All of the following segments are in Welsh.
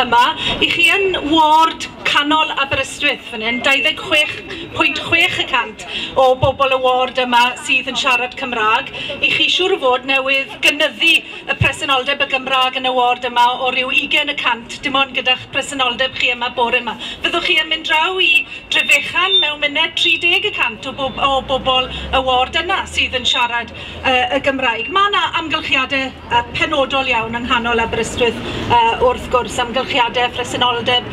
yma. I chi yn ward canol Aberystwyth fan hyn, 26.6% o bobl y ward yma sydd yn siarad Cymraeg. I chi siŵr o fod newydd gynyddu y presenoldeb y Gymraeg yn y ward yma o ryw 20%, dim ond gyda'ch presenoldeb chi yma bore yma. Fyddwch chi yn mynd draw i Drefechan mewn munud, 30% o bobl y ward yna sydd yn siarad y Gymraeg. Mae yna amgylchiadau penodol iawn yng nghanol Aberystwyth, wrth gwrs, amgylchiadau presenoldeb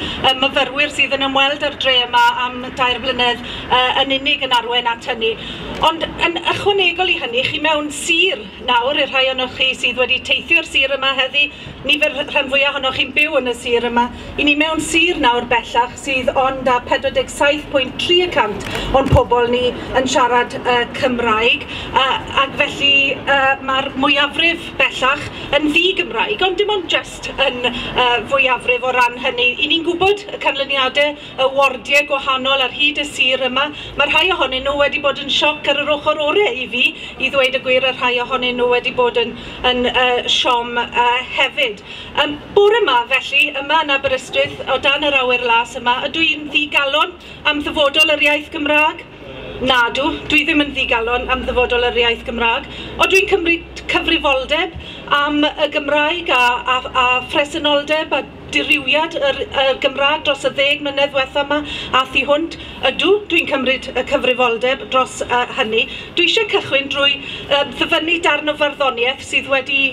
myfyrwyr sydd yn ymweld â'r dre yma am 3 blynedd yn unig yn arwain at hynny. Ond yn ychwanegol i hynny, chi mewn sir nawr, i'r rhai ohonoch chi sydd wedi teithio'r sir yma heddi, nifer rhan fwyaf ohonoch chi'n byw yn y sir yma, i ni mewn sir nawr bellach sydd ond â 47.3% o'n pobl ni yn siarad Cymraeg, ac felly mae'r mwyafrif bellach yn ddi-Gymraeg, ond dim ond just yn fwyafrif o ran hynny. I ni'n gwybod y canlyniadau, y wardiau gwahanol ar hyd y sir yma. Mae rhai ohonyn nhw wedi bod yn sioc ar yr ochr orau i fi, i ddweud y gwir, y rhai ohonyn nhw wedi bod yn siom hefyd. Bore yma felly, yma yn Aberystwyth, o dan yr awyr las yma, ydw i'n ddigalon am ddyfodol yr iaith Gymraeg? Nadw, dwi ddim yn ddigalon am ddyfodol yr iaith Gymraeg, ond dwi'n cymryd cyfrifoldeb am y Gymraeg a phresenoldeb a dirywiad y Gymraeg dros y 10 mlynedd ddiwetha yma a thu hwnt. Ydw, dwi'n cymryd y cyfrifoldeb dros hynny. Dwi eisiau cychwyn drwy ddyfynnu darn o farddoniaeth sydd wedi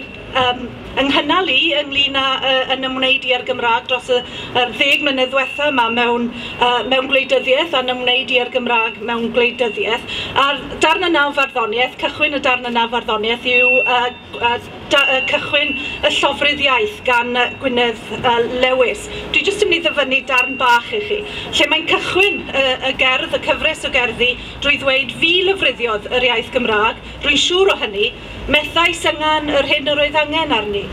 ynghynnal i ynglyn â yn ymwneud i â'r Gymraeg dros yr 10 mlynedd ddiwetha yma mewn gwleidyddiaeth a'n ymwneud i â'r Gymraeg mewn gwleidyddiaeth. A'r darn yna o farddoniaeth, cychwyn y darn yna o farddoniaeth yw cychwyn y Llofrudd Iaith gan Gwynedd Lewis. Dwi jyst yn mynd i ddyfynnu darn bach i chi, lle mae'n cychwyn y gerdd, y cyfres o gerddi, drwy ddweud fi lofruddiodd yr iaith Gymraeg, rwy'n siŵr o hynny, methais yngan yr hyn yr oedd angen arni.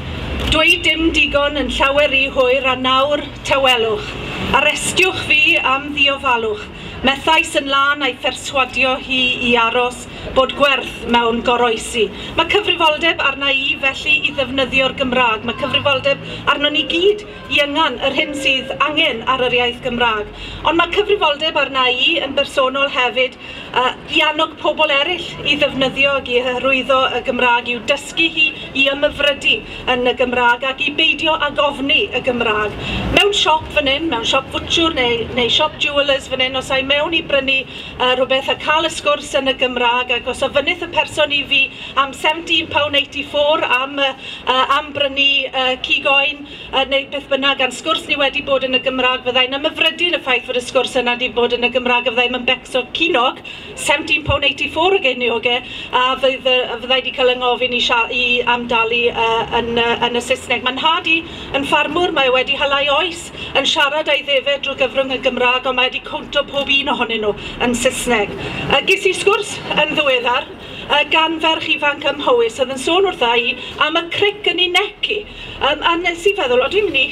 Dweud dim digon yn llawer rhy hwyr a nawr tawelwch. Arestiwch fi am ddiofalwch. Methais yn lân a'i pherswadio hi i aros bod gwerth mewn goroesi. Mae cyfrifoldeb arna i felly i ddefnyddio'r Gymraeg. Mae cyfrifoldeb arno ni gyd i yngan yr hyn sydd angen ar yr iaith Gymraeg. Ond mae cyfrifoldeb arna i yn bersonol hefyd i annog pobl eraill i ddefnyddio ac i hyrwyddo y Gymraeg, i'w dysgu hi, i ymhyfrydu yn y Gymraeg ac i beidio ag ofni y Gymraeg. Mewn siop fan hyn, mewn siop fwtshwr neu siop jewellers fan hyn, os ai mewn i brynu rhywbeth a cael y sgwrs yn y Gymraeg, ac os ofynnith y person i fi am £17.84 am brynu cig oen neu beth bynnag, a'n sgwrs ni wedi bod yn y Gymraeg, fyddai'n ymhyfrydu yn y ffaith fod y sgwrs yna wedi bod yn y Gymraeg, a fyddai'n becso cinog, £17.84 o geiniogau, a fyddai wedi cael yngofyn i amdalu yn y Saesneg. Mae'n nhad i yn ffarmwr, mae wedi halai oes yn siarad a'i ddefed drwy gyfrwng y Gymraeg, ond mae wedi cwnto pob un ohonyn nhw yn Saesneg. Ges i sgwrs yn ddiweddar gan ferch ifanc ym Mhowys oedd yn sôn wrtha i am y cric yn ei nec i. A nes i feddwl, o dwi'n mynd i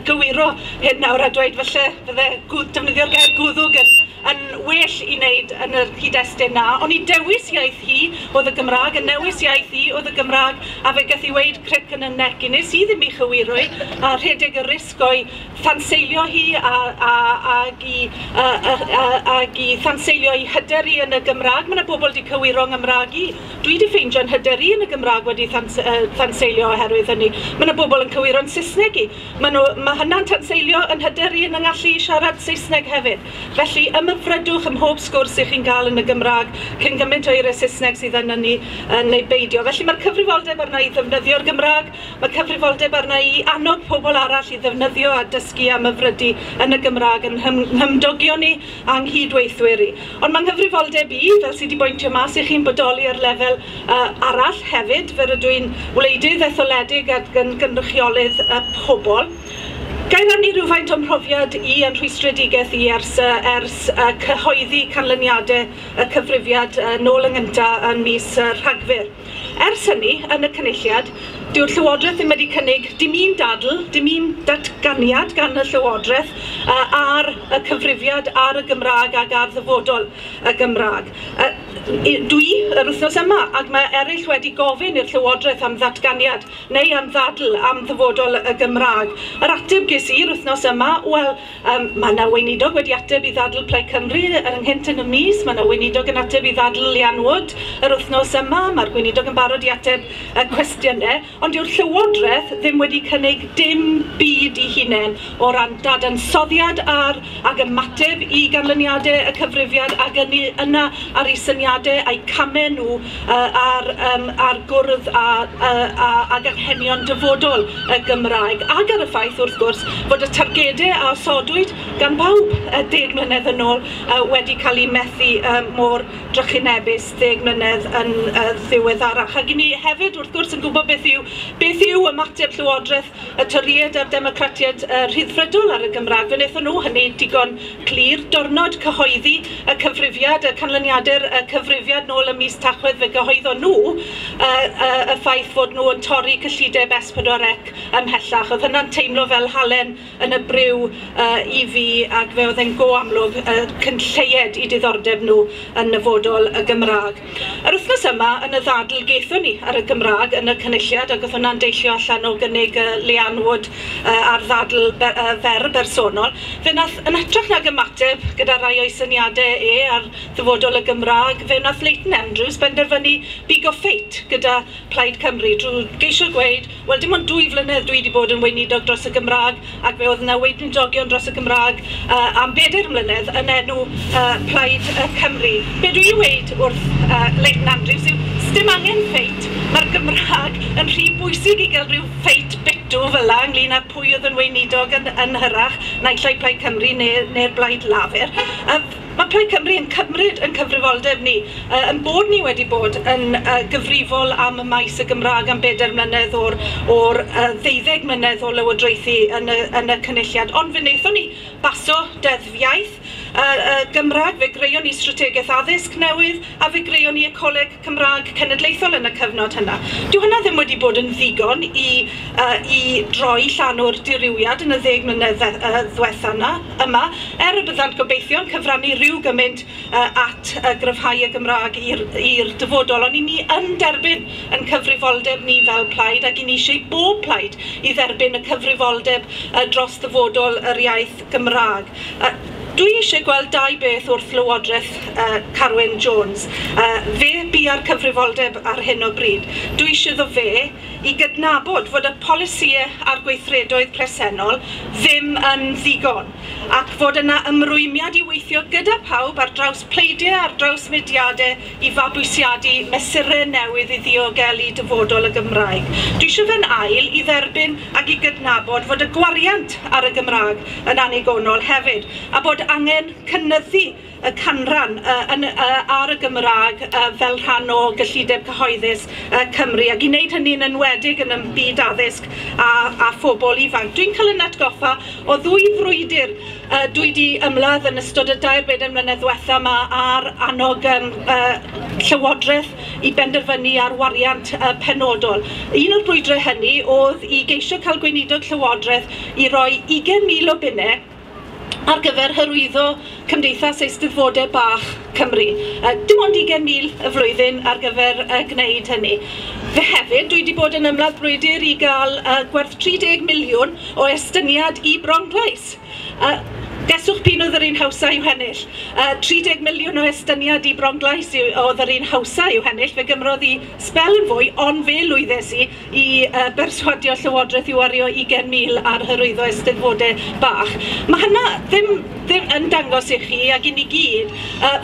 gywiro hyn nawr a dweud falle fydde defnyddio'r gair gwddwg yn well i wneud yn yr cyd-destun na, ond i dewis iaith hi oedd y Gymraeg, y newis iaith hi oedd y Gymraeg, a fe gath i weud cric yn y nec i. Nes i ddim i chywiro i, a rhedeg y risg o'i thanseilio hi ag i thanseilio i hyder i yn y Gymraeg. Mae yna bobl wedi cywiro Nghymraeg i. Dwi wedi ffeindio'n hyder i yn y Gymraeg wedi thanseilio oherwydd hynny. Mae yna bobl yn cywiro'n Saesneg i. Mae hynna'n tanseilio yn hyder i yn yngallu i siarad Saesneg hefyd. Felly ymhyfrydwch ym mhob sgwrs ych chi'n gael yn y Gymraeg cyn gymaint o eiriau Saesneg sydd yna ni neu beidio. Felly mae'r cyfrifoldeb arna i ddefnyddio'r Gymraeg, mae cyfrifoldeb arna i annog pobl arall i ddefnyddio a dysgu am ymhyfrydu yn y Gymraeg yn nghymdogion ni a'n nghydweithwyr i. Ond mae'n nghyfrifoldeb i, fel sydd wedi bwyntio mas i chi'n bodoli ar lefel arall hefyd, fel rydw i'n wleidydd etholedig ac yn gynrychiolydd pobl. Ga i rannu rhywfaint o'm mhrofiad i yn rhwystredigaeth i ers cyhoeddi canlyniadau y cyfrifiad nôl yng ngynta yn mis Rhagfyr. Ers hynny, yn y Cynulliad, Dyw'r Llywodraeth ddim wedi cynnig dim un dadl, dim un datganiad gan y Llywodraeth ar y cyfrifiad ar y Gymraeg ac ar ddyfodol y Gymraeg. Dwi yr wythnos yma, ac mae eraill wedi gofyn i'r Llywodraeth am ddatganiad neu am ddadl am ddyfodol y Gymraeg. Yr ateb ges i'r wythnos yma, wel, mae yna weinidog wedi ateb i ddadl Plaid Cymru ynghynt yn y mis, mae yna weinidog yn ateb i ddadl Leanne Wood yr wythnos yma, mae'r gweinidog yn barod i ateb y cwestiynau, ond dyw'r Llywodraeth ddim wedi cynnig dim byd i hunain o ran dadansoddiad ar ag ymateb i ganlyniadau y cyfrifiad ac yna ar eu syniadau a'u camau nhw ar gwrdd ag anghenion dyfodol y Gymraeg, ac ar y ffaith wrth gwrs fod y targedau a osodwyd gan bawb 10 mlynedd yn ôl wedi cael eu methu mor drychinebus 10 mlynedd yn ddiweddarach. Ac i ni hefyd wrth gwrs yn gwybod beth yw ymateb Llywodraeth y Torïaid a'r Democratiaid Rhyddfrydol ar y Gymraeg. Fe wnaethon nhw hynny digon clir. Diwrnod cyhoeddi y cyfrifiad, y canlyniadau'r cyfrifiad nôl ym mis Tachwedd, fe gyhoeddon nhw y ffaith fod nhw yn torri cyllideb S4C ymhellach. Oedd hynna'n teimlo fel halen yn y briw i fi, ac fe oedd e'n go amlwg cynlleied i diddordeb nhw yn nyfodol y Gymraeg. Yr wythnos yma yn y ddadl gaethon ni ar y Gymraeg yn y Cynulliad, ac oedd hwnna'n deillio allan o gynnig Leanne Wood ar ddadl fer bersonol, fe wnaeth yn hytrach nag ymateb gyda rai o'i syniadau e ar ddyfodol y Gymraeg, fe wnaeth Leighton Andrews benderfynu bigo ffeit gyda Plaid Cymru drwy geisio gweud, wel, dim ond 2 flynedd dwi wedi bod yn weinidog dros y Gymraeg, ac fe oedd yna weinidogion dros y Gymraeg am 4 mlynedd yn enw Plaid Cymru. Be dwi'n weud wrth Leighton Andrews yw, sdim angen ffeit, mae'r Gymraeg yn rhy bwysig i gael rhyw ffeit bitw fel la ynglyn â pwy oedd yn weinidog yn hyrach, naill ai Plaid Cymru neu'r Blaid Lafur. Mae Plaid Cymru yn cymryd yn cyfrifoldeb ni, yn bod ni wedi bod yn gyfrifol am y maes y Gymraeg am 4 mlynedd o'r 12 mlynedd o lywodraethu yn y Cynulliad. Ond fe wnaethon ni baso deddf iaith Gymraeg, fe greuon ni strategaeth addysg newydd, a fe greuon ni y Coleg Cymraeg Cenedlaethol yn y cyfnod hynna. Dyw hynna ddim wedi bod yn ddigon i droi llanw'r dirywiad yn y 10 mlynedd ddiwetha yma, er y byddant gobeithio'n cyfrannu rhyw gymaint at gryfhau y Gymraeg i'r dyfodol. Ond i ni yn derbyn yn cyfrifoldeb ni fel plaid, ac i ni eisiau bob plaid i dderbyn y cyfrifoldeb dros ddyfodol yr iaith Gymraeg. Dwi eisiau gweld 2 beth wrth Lywodraeth Carwyn Jones. Fe bu'r cyfrifoldeb ar hyn o bryd. Dwi eisiau iddo fe i gydnabod fod y polisïau a'r gweithredoedd presennol ddim yn ddigon, ac fod yna ymrwymiad i weithio gyda pawb ar draws pleidiau, ar draws mudiadau i fabwysiadu mesurau newydd i ddiogelu dyfodol y Gymraeg. Dwi eisiau fe'n ail i dderbyn ac i gydnabod fod y gwariant ar y Gymraeg yn annigonol hefyd, a bod angen cynyddu y canran ar y Gymraeg fel rhan o gyllideb cyhoeddus Cymru, ac i wneud hynny'n enwedig yn y byd addysg a phobl ifanc. Dwi'n cael yn atgoffa o 2 frwydr dwi wedi ymladd yn ystod y 2-4 mlynedd ddiwetha yma ar annog Llywodraeth i benderfynu ar wariant penodol. Un o'r brwydrau hynny oedd i geisio cael gweinidog Llywodraeth i roi 20,000 o bunnau ar gyfer hyrwyddo Cymdeithas Eisteddfodau Bach Cymru. Dim ond 20,000 y flwyddyn ar gyfer gwneud hynny. Fe hefyd, dwi wedi bod yn ymladd brwydr i gael gwerth 30 miliwn o estyniad i Bronglais. Geswch p'un oedd yr un hawsa i'w hennill. 30 miliwn o estyniad i Bronglais oedd yr un hawsa i'w hennill. Fe gymrodd i sbel yn fwy, ond fe lwyddes i berswadio Llywodraeth i wario 20,000 ar hyrwyddo eisteddfodau bach. Mae hynna ddim yn dangos i chi ac i ni gyd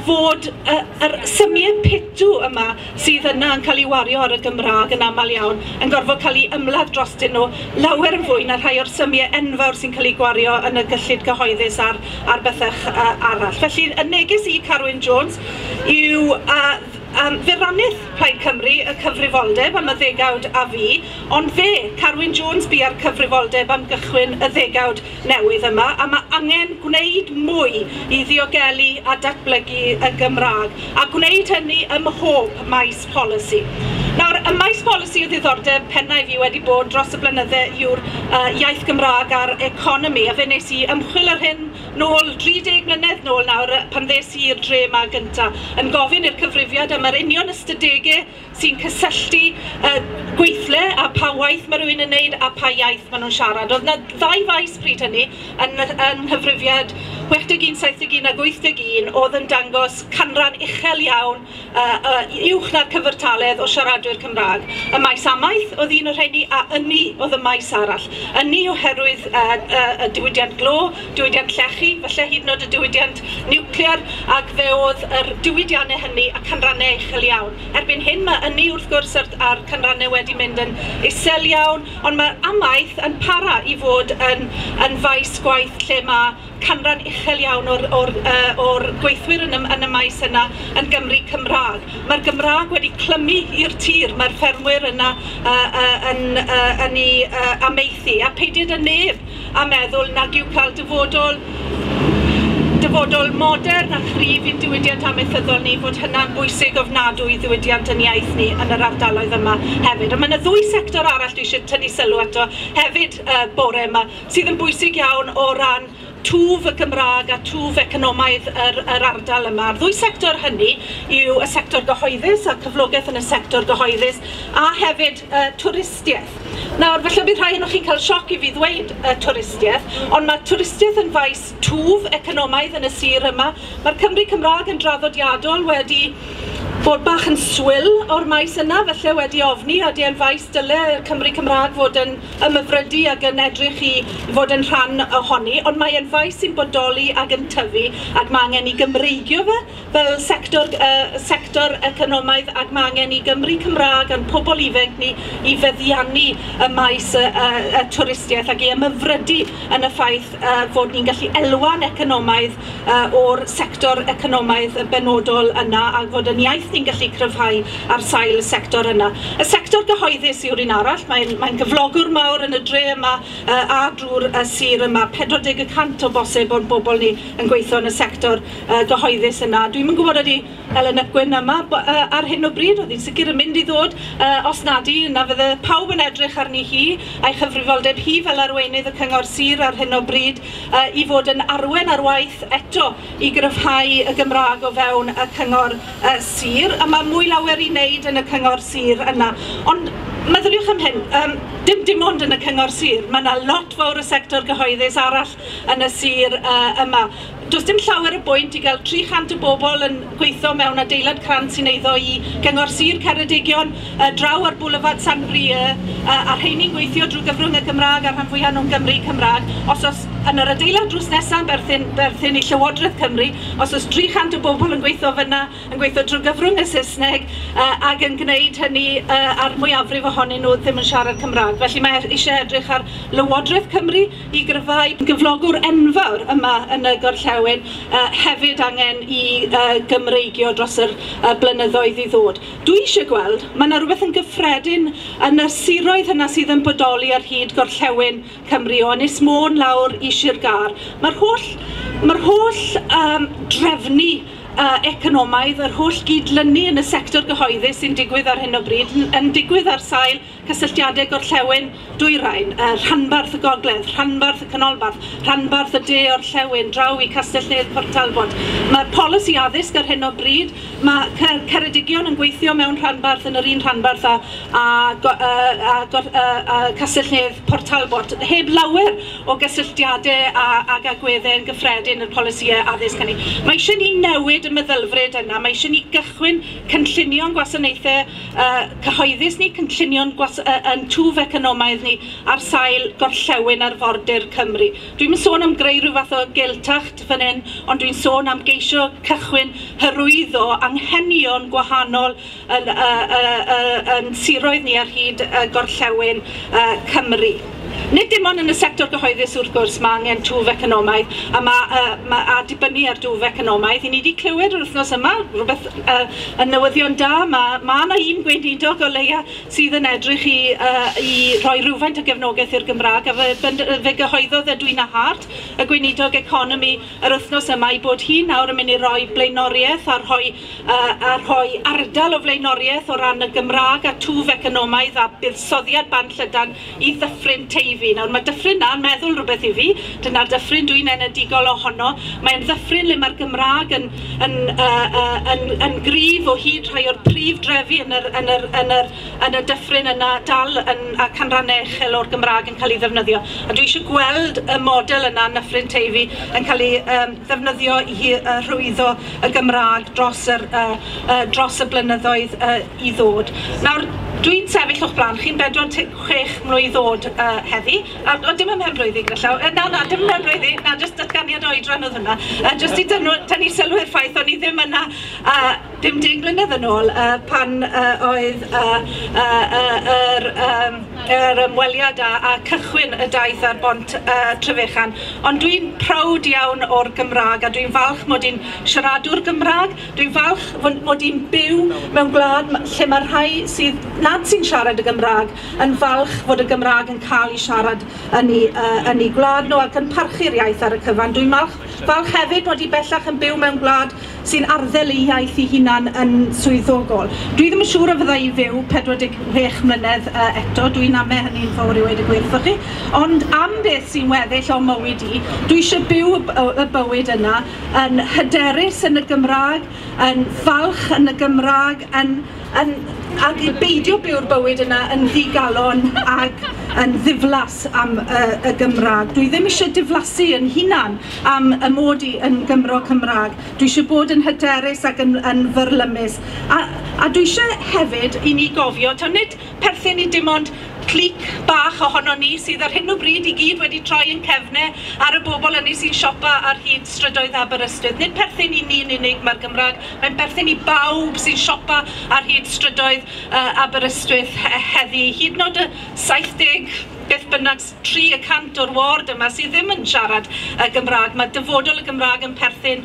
fod yr symiau pitw yma sydd yna yn cael ei wario ar y Gymraeg yn aml iawn yn gorfod cael ei ymladd drostyn nhw lawer yn fwy na rhai o'r symiau enfawr sy'n cael ei gwario yn y gyllid cyhoeddus ar bethau arall. Felly, y neges i Carwyn Jones yw fe rannudd Plaid Cymru y cyfrifoldeb am y ddegawd a fi, ond fe, Carwyn Jones, bu ar cyfrifoldeb am gychwyn y ddegawd newydd yma, a mae angen gwneud mwy i ddiogelu a datblygu y Gymraeg, a gwneud hynny ym mhob maes polisi. Nawr, Y maes polisi o ddiddordeb pennau fi wedi bod dros y blynydde yw'r iaith Gymraeg a'r economi, a fe wnes i ymchwil ar hyn nôl 30 mlynedd nôl nawr pan ddes i i'r dre yma gynta, yn gofyn i'r cyfrifiad am yr union ystadegau sy'n cysylltu gweithle a pa waith mae rhywun yn neud a pa iaith maen nhw'n siarad. Oedd yna ddau faes pryd hynny yn nghyfrifiad 61, 71 ac 81 oedd yn dangos canran uchel iawn, uwch na'r cyfartaledd o siaradwyr Cymraeg. Y maes amaeth oedd un o'r rheini, a ynni oedd y maes arall. Ynni oherwydd y diwydiant glo, diwydiant llechi, falle hyd yn oed y diwydiant niwclear, ac fe oedd yr diwydiannau hynny a canrannau uchel iawn. Erbyn hyn mae ynni wrth gwrs a'r canrannau wedi mynd yn isel iawn, ond mae amaeth yn para i fod yn faes gwaith lle mae canran uchel iawn o'r gweithwyr yn y maes yna yn Gymru Cymraeg. Mae'r Gymraeg wedi clymu i'r tir, mae'r ffermwyr yna yn ei amaethu, a peidied y neb a meddwl nag yw cael dyfodol modern a chryf i'n diwydiant amaethyddol ni, fod hynna'n bwysig ofnadwy i ddiwydiant yn iaith ni yn yr ardaloedd yma hefyd. A mae yna ddwy sector arall dwi eisiau tynnu sylw ato hefyd bore yma, sydd yn bwysig iawn o ran twf y Gymraeg a twf economaidd yr ardal yma. A'r ddwy sector hynny yw y sector gyhoeddus a cyflogaeth yn y sector gyhoeddus, a hefyd twristiaeth. Nawr, falle bydd rhai ohonoch chi'n cael sioc i fi ddweud twristiaeth, ond mae twristiaeth yn faes twf economaidd yn y sir yma. Mae'r Cymry Cymraeg yn draddodiadol wedi bod bach yn swil o'r maes yna, felly wedi ofni, a di yn faes dyle Cymry Cymraeg fod yn ymhyfrydu ac yn edrych i fod yn rhan ohoni, ond mae yn faes sy'n bodoli ac yn tyfu, ac mae angen i Gymreigio fe fel sector economaidd, ac mae angen i Gymry Cymraeg a'n pobl ifanc ni i feddiannu y maes y twristiaeth ac i ymhyfrydu yn y ffaith fod ni'n gallu elwa'n economaidd o'r sector economaidd benodol yna, a fod yn iaith ni'n gallu cryfhau ar sail y sector yna. Y sector gyhoeddus yw'r un arall, mae'n gyflogwr mawr yn y dre yma a drwy'r sir yma. 40% o bosib o'n bobl ni yn gweithio yn y sector gyhoeddus yna. Dwi'm yn gwybod ydy Ellen ap Gwynn yma ar hyn o bryd, oedd hi'n sicr yn mynd i ddod, os nadi, yna fydde pawb yn edrych arni hi a'i chyfrifoldeb hi fel arweinydd y Cyngor Sir ar hyn o bryd i fod yn arwen ar waith eto i gryfhau y Gymraeg o fewn y Cyngor Sir, a mae mwy lawer i wneud yn y Cyngor Sir yna. Ond meddyliwch am hyn, dim ond yn y Cyngor Sir, mae yna lot fawr o sector gyhoeddus arall yn y sir yma. Does dim llawer o bwynt i gael 300 o bobl yn gweithio mewn adeilad crant sy'n eiddo i Gyngor Sir Ceredigion, draw ar Boulevard San Brieux, a rheini'n gweithio drwy gyfrwng y Gymraeg a'r rhan fwyaf nhw'n Gymru Cymraeg. Os oes yn yr adeilad drws nesaf berthyn i Llywodraeth Cymru, os oes 300 o bobl yn gweithio fyna, yn gweithio drwy gyfrwng y Saesneg, ac yn gwneud hynny a'r mwyafrif ohonyn nhw ddim yn siarad Cymraeg. Felly mae eisiau edrych ar Lywodraeth Cymru i gryfhau gyflogwr enfawr yma yn y gorllewin, hefyd angen i Gymreigio dros yr blynyddoedd i ddod. Dwi eisiau gweld, mae yna rhywbeth yn gyffredin yn y siroedd yna sydd yn bodoli ar hyd gorllewin Cymru, o Ynys Môn lawr i Sir Gâr. Mae'r holl drefnu economaidd, yr holl gydlynu yn y sector gyhoeddus sy'n digwydd ar hyn o bryd, yn digwydd ar sail cysylltiadau gorllewin dwyrain, rhanbarth y gogledd, rhanbarth y canolbarth, rhanbarth y de orllewin, draw i Castell-nedd Port Talbot. Mae'r polisi addysg ar hyn o bryd, mae Ceredigion yn gweithio mewn rhanbarth yn yr un rhanbarth a Castell-nedd Port Talbot, heb lawer o gysylltiadau ag agweddau yn gyffredin yr polisïau addysg hynny. Mae eisiau ni newid y meddylfryd yna, mae eisiau ni gychwyn cynllunio'n gwasanaethau cyhoeddus ni, cynllunio'n yn twf economaidd ni ar sail gorllewin arfordir Cymru. Dwi'm yn sôn am greu rhyw fath o Gaeltacht fan hyn, ond dwi'n sôn am geisio cychwyn hyrwyddo anghenion gwahanol yn siroedd ni ar hyd gorllewin Cymru. Nid dim ond yn y sector gyhoeddus wrth gwrs mae angen twf economaidd a, a dibynnu ar dwf economaidd. I ni wedi clywed yr wythnos yma, rhywbeth yn newyddion da, mae yna un gweinidog o leia sydd yn edrych i rhoi rhywfaint o gefnogaeth i'r Gymraeg, a fe gyhoeddodd Edwina Hart, y gweinidog economi, yr wythnos yma i bod hi nawr yn mynd i roi blaenoriaeth a rhoi ardal o flaenoriaeth o ran y Gymraeg a twf economaidd a buddsoddiad band llydan i Ddyffryn Teifi. Nawr mae dyffryn na'n meddwl rhywbeth i fi, dyna'r dyffryn dwi'n enedigol ohono. Mae'n ddyffryn le mae'r Gymraeg yn gryf o hyd, rhai o'r prif drefi yn y dyffryn yna dal yn, a canrannau uchel o'r Gymraeg yn cael ei ddefnyddio. A dwi eisiau gweld y model yna yn Nyffryn Teifi yn cael ei ddefnyddio i hyrwyddo y Gymraeg dros y blynyddoedd i ddod. Nawr, dwi'n sefyll o'ch blaen chi'n 46 mlwydd oed heddi, a dim ym mhen blwyddyn gyda llaw, na, dim ym mhen blwyddyn, na, jyst datganiad oedran oedd hwnna, jyst i tynnu sylw i'r ffaith o'n i ddim yna 50 mlynedd yn ôl pan oedd yr ymweliad a cychwyn y daith ar bont Trefechan. Ond dwi'n proud iawn o'r Gymraeg a dwi'n falch mod i'n siaradwr Gymraeg, dwi'n falch mod i'n byw mewn gwlad lle mae rhai sydd nad sy'n siarad y Gymraeg yn falch fod y Gymraeg yn cael ei siarad yn ei gwlad nhw ac yn parchu'r iaith ar y cyfan. Dwi'n falch hefyd mod i bellach yn byw mewn gwlad sy'n arddel ei iaith ei hunan yn swyddogol. Dwi ddim yn siŵr a fydda i fyw 46 mlynedd eto, dwi'n ame hynny'n fawr i weud y gwir wrthoch chi, ond am beth sy'n weddill o mywyd i, dwi eisiau byw y bywyd yna yn hyderus yn y Gymraeg, yn falch yn y Gymraeg, ac i beidio byw'r bywyd yna yn ddigalon ac yn ddiflas am y Gymraeg. Dwi ddim eisiau diflasu yn hunan am y mod i yn Gymro Cymraeg. Dwi eisiau bod yn hyderus ac yn fyrlymus. A dwi eisiau hefyd i ni gofio, taw nid perthyn i dim ond clic bach ohono ni sydd ar hyn o bryd i gyd wedi troi yn cefnau ar y bobl hynny sy'n siopa ar hyd strydoedd Aberystwyth. Nid perthyn i ni'n unig mae'r Gymraeg, mae'n perthyn i bawb sy'n siopa ar hyd strydoedd Aberystwyth heddi. Hyd yn oed y 70 beth bynnag 3% o'r ward yma sydd ddim yn siarad y Gymraeg. Mae dyfodol y Gymraeg yn perthyn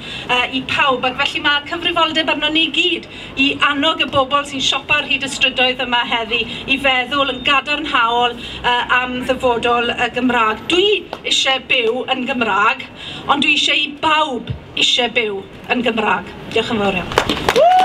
i pawb, ac felly mae cyfrifoldeb arno ni gyd i annog y bobl sy'n siopa ar hyd y strydoedd yma heddi i feddwl yn gadarnhaol am ddyfodol y Gymraeg. Dwi eisiau byw yn Gymraeg, ond dwi eisiau i bawb eisiau byw yn Gymraeg. Diolch yn fawr iawn.